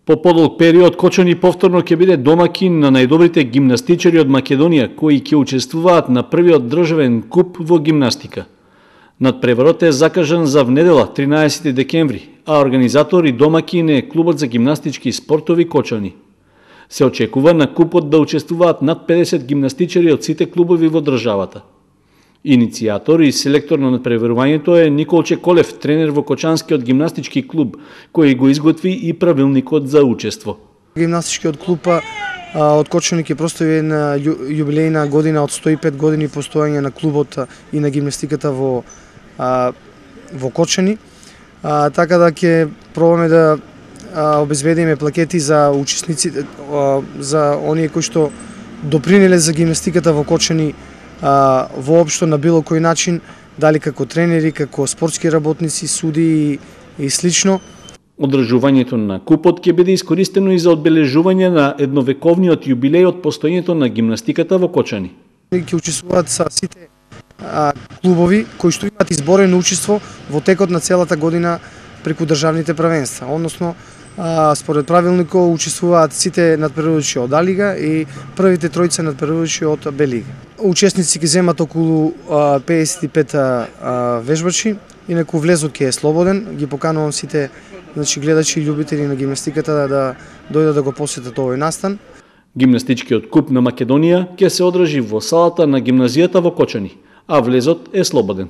По подолг период Кочани повторно ќе биде домакин на најдобрите гимнастичари од Македонија кои ќе учествуваат на првиот државен куп во гимнастика. Надпреварот е закажан за внедела 13 декември, а организатор и домакин е клубот за гимнастички спортови Кочани. Се очекува на купот да учествуваат над 50 гимнастичари од сите клубови во државата. Иницијатор и селектор на надпреварувањето е Николче Колев, тренер во Кочанскиот гимнастички клуб, кој го изготви и правилникот за учество. Гимнастичкиот клуб од Кочани ќе прослави една јубилејна година од 105 години постоење на клубот и на гимнастиката во Кочани. Така да ќе пробаме да обезбедиме плакети за учесниците, за оние кои што допринеле за гимнастиката во Кочани воопшто на било кој начин, дали како тренери, како спортски работници, суди и слично. Одржувањето на купот ќе биде искористено и за одбележување на едновековниот јубилеј од постоењето на гимнастиката во Кочани. Ќе учествуваат са сите клубови кои што имаат изборено учество во текот на целата година преку државните првенства, односно според правилникот учествуваат сите надпреварувачи од А-лига и првите тројца надпреварувачи од Б-лига. Учесници ќе земат околу 55 вежбачи, инаку влезот ќе е слободен. Ги поканувам сите гледачи и љубители на гимнастиката да дојдат да го посетат овој настан. Гимнастичкиот куп на Македонија ќе се одржи во салата на гимназијата во Кочани, а влезот е слободен.